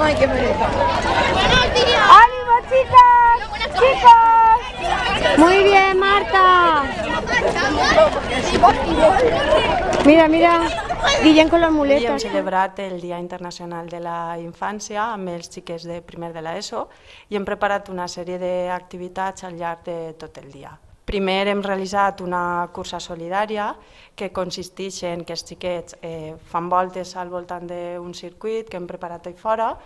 Ay, qué pereza. ¡Ánimo, chicas! ¡Chicos! Muy bien, Marta. Mira, mira, Guillem con les Avui hem muletes. celebrat el Dia Internacional de la Infància amb els xiquets de primer de l'ESO i hem preparat una sèrie d'activitats al llarg de tot el dia. Primer hem realitzat una cursa solidària que consisteix en que els xiquets fan voltes al voltant d'un circuit que hem preparat allà fora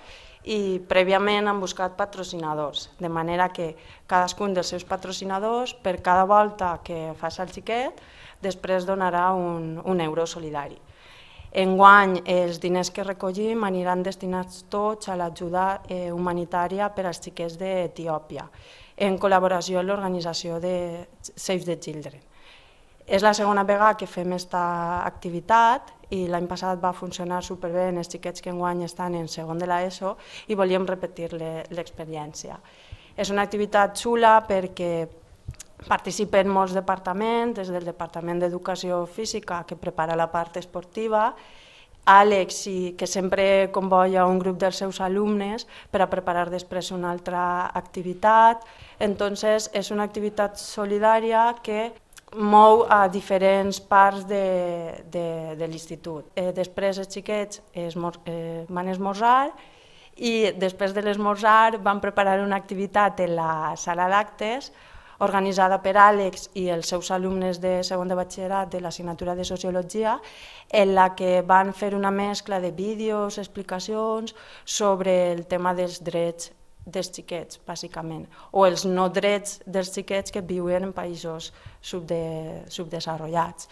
i prèviament han buscat patrocinadors, de manera que cadascun dels seus patrocinadors, per cada volta que faci el xiquet, després donarà un euro solidari. Enguany, els diners que recollim aniran destinats tots a l'ajuda humanitària per als xiquets d'Etiòpia, en col·laboració amb l'organització de Save the Children. És la segona vegada que fem aquesta activitat i l'any passat va funcionar superbé en els xiquets que enguany estan en segon de l'ESO i volíem repetir l'experiència. És una activitat xula perquè participen molts departaments, des del Departament d'Educació Física, que prepara la part esportiva, Àlex, que sempre convoia un grup dels seus alumnes per a preparar després una altra activitat. Entonces, és una activitat solidària que mou a diferents parts de l'institut. Després els xiquets van esmorzar i després de l'esmorzar van preparar una activitat en la sala d'actes organitzada per Àlex i els seus alumnes de segon de batxillerat de l'assignatura de Sociologia, en la que van fer una mescla de vídeos, explicacions sobre el tema dels drets dels xiquets, bàsicament, o els no drets dels xiquets que viuen en països subdesenvolupats.